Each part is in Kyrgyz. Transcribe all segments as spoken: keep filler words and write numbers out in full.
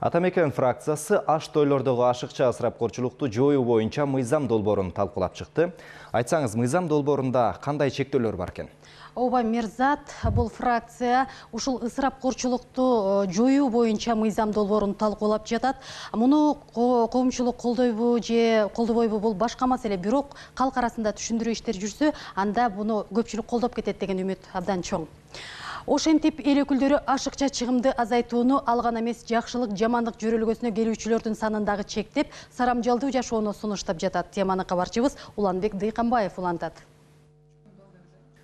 Атамекен фракциясы аш тойлордогу ашыкча ысырапкорчулукту жоюу боюнча мыйзам долбоорун талкуулап чыкты. Айтсаңыз, мыйзам долбоорунда кандай чектөөлөр бар экен? Ооба, Мирзат, бул фракция ушул ысырапкорчулукту жоюу боюнча мыйзам долбоорун талкуулап жатат. Муну коомчулук колдойбу же колдобойбу бул башка маселе, бирок калк арасында түшүндүрүү иштери жүрсө, анда буну көпчүлүк колдоп кетет деген үмүт абдан чоң. Ошентип эл өкүлдөрү ашыкча чыгымды азайтууну ал гана эмес, жакшылык жамандык жөрөлгөсүнө келүүчүлөрдүн санындагы чектеп, сарамжалдуу жашоону сунуштап жатат. Теманы кабарчыбыз Уланбек Дыйканбаев улантат.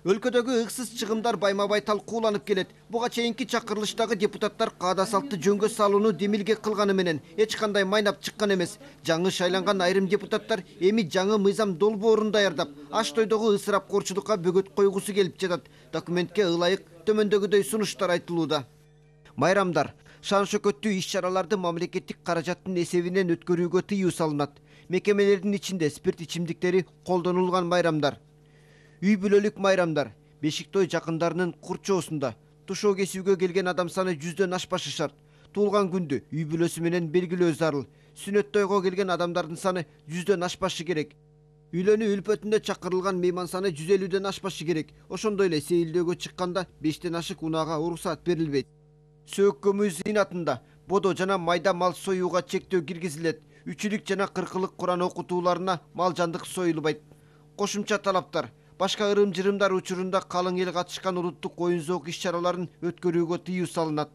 Өлкөдөгү ыксыз чыгымдар байма-бай талкууланып келет. Буга чейинки чакырылыштагы депутаттар каада салтты жөнгө салууну демилге кылганы менен эч кандай майнап чыккан эмес. Жаңы шайланган айрым депутаттар эми жаңы мыйзам долбоорун даярдап, аш тойдогу ысырапкорчулукка бөгөт койгусу келип жатат. Документке ылайык төмөндөгүдөй сунуштар айтылууда. Майрамдар, шан шөкөттүү иш-чараларды мамлекеттик каражаттын эсебинен өткөрүүгө тыюу салынат. Мекемелердин ичинде спирт ичимдиктери колдонулган майрамдар. Үй бүлөлүк майрамдар, бешик той жакындарынын курчоосунда тушоо кесүүгө келген адам саны жүздөн ашпашы шарт. Туулган күндү үй бүлөсү менен белгилөө зарыл. Сүнөт тойго келген адамдардын саны жүздөн ашпашы керек. Үйлөнүү үлпөтүндө чакырылган мейман саны жүз элүүдөн ашпашы керек. Ошондой эле сейилдөөгө чыкканда бештен ашык унаага уруксаат берилбейт. Сөөк көмүү зыйнатында бодо жана майда мал союуга чектөө киргизилет. Үчүлүк жана кыркылык Куран окутууларына мал жандык союлбайт. Кошумча талаптар: башка ырым-жырымдар учурунда калың эл катышкан улуттук оюн-зоок иш-чараларын өткөрүүгө тыюу салынат.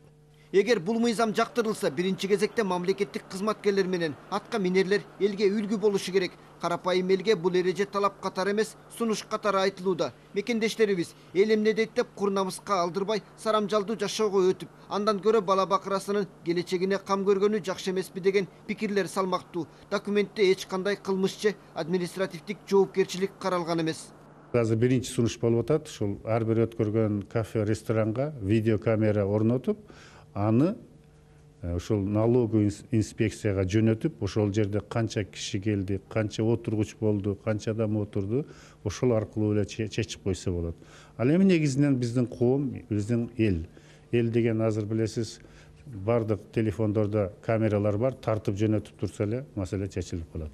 Эгер бул мыйзам жактырылса, биринчи кезекте мамлекеттик кызматкерлер менен атка минерлер элге үлгү болушу керек. Карапайым элге бул эреже талап катары эмес, сунуш катары айтылууда. Мекендештерибиз эл эмне дейт деп кур намыска алдырбай, сарамжалдуу жашоого өтүп, андан көрө бала бакырасынын келечегине кам көргөнү жакшы эмеспи деген пикирлер салмактуу. Документте эч кандай кылмыш же административдик жоопкерчилик каралган эмес. Азыр биринчи сунуш болуп атат. Ушул ар бир өткөргөн кафе, ресторанга видеокамера орнотуп, аны ошол налоговый инспекцияга жөнөтүп, ошол жерде канча киши келди, канча отургуч болду, канча адам отурду, ошол аркылуу эле чечип койсо болот. Ал эми негизинен биздин коом, биздин эл. Эл деген азыр билесиз, бардык телефондордо камералар бар, тартып жөнөтүп турса эле маселе чечилип калат.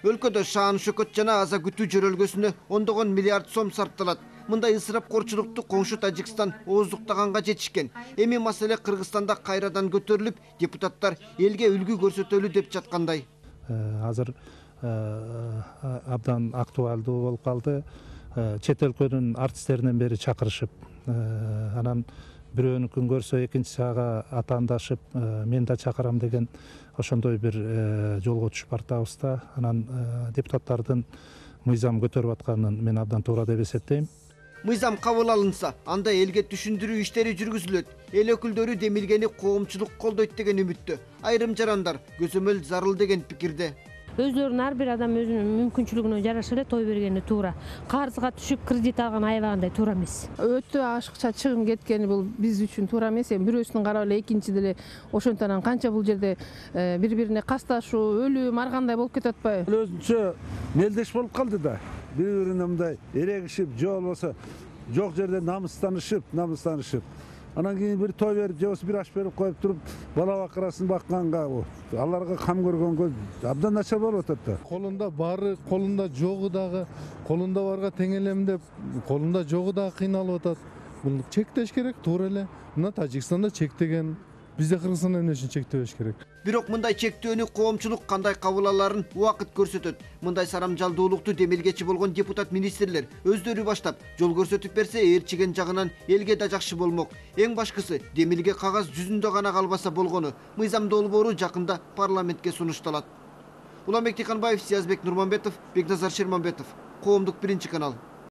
Өлкөдө шаан шөкөт жана аза күтүү жөрөлгөсүнө ондогон миллиард сом сарпталат. Мындай ысырапкорчулукту коңшу Тажикстан ооздуктаганга жетишкен. Эми маселе Кыргызстанда кайрадан көтөрүлүп, депутаттар элге үлгү көрсөтөлү деп жаткандай. Азыр абдан актуалдуу болуп калды. Чет өлкөнүн артисттеринен бери чакырышып, анан бирөөнүкүн көрсө экинчиси ага атаандашып, мен да чакырам деген ошондой бир жолго түшүп бартабыз да. Анан депутаттардын мыйзам көтөрүп атканын мен абдан туура деп эсептейм. Мыйзам кабыл алынса, анда элге түшүндүрүү иштери жүргүзүлөт. Эл өкүлдөрү демилгени коомчулук колдойт деген үмүттө. Айрым жарандар көзөмөл зарыл деген пикирде. Өздөрүнүн ар бир адам өзүнүн мүмкүнчүлүгүнө жараша эле той бергени туура. Карызга түшүп кредит алган аябагандай туура эмес. Өтө ашыкча чыгым кеткени бул биз үчүн туура эмес. Эми бирөөсүн карап эле экинчи деле ошентип анан канча бул жерде бири-бирине касташуу, өлүм, ар кандай болуп кетип атпайбы? Өзүнчө мелдеш болуп калды да. Бири-бирине мындай эрегишип, же болбосо жок жерде намыстанышып, намыстанышып. Анан кийин бир той берип, же болбосо бир аш берип коюп туруп, бала бакырасын бакканга, аларга кам көргөнгө абдан начар болуп атат да. Колунда бары, колунда жогу дагы, колунда барга тең элем деп, колунда жогу дагы кыйналып атат. Бул чектеш керек, туура эле. Мына Тажикстанда чектеген, бизде Кыргызстанда эмне үчүн чектебеш керек? Бирок мындай чектөөнү коомчулук кандай кабыл аларын убакыт көрсөтөт. Мындай сарамжалдуулукту демилгечи болгон депутат министрлер өздөрү баштап жол көрсөтүп берсе, ээрчиген жагынан элге да жакшы болмок. Эң башкысы, демилге кагаз жүзүндө гана калбаса болгону. Мыйзам долбоору жакында парламентке сунушталат. Уланбек Дыйканбаев, Сиязбек Нурманбетов, Бекназар Шерманбетов. Коомдук биринчи канал.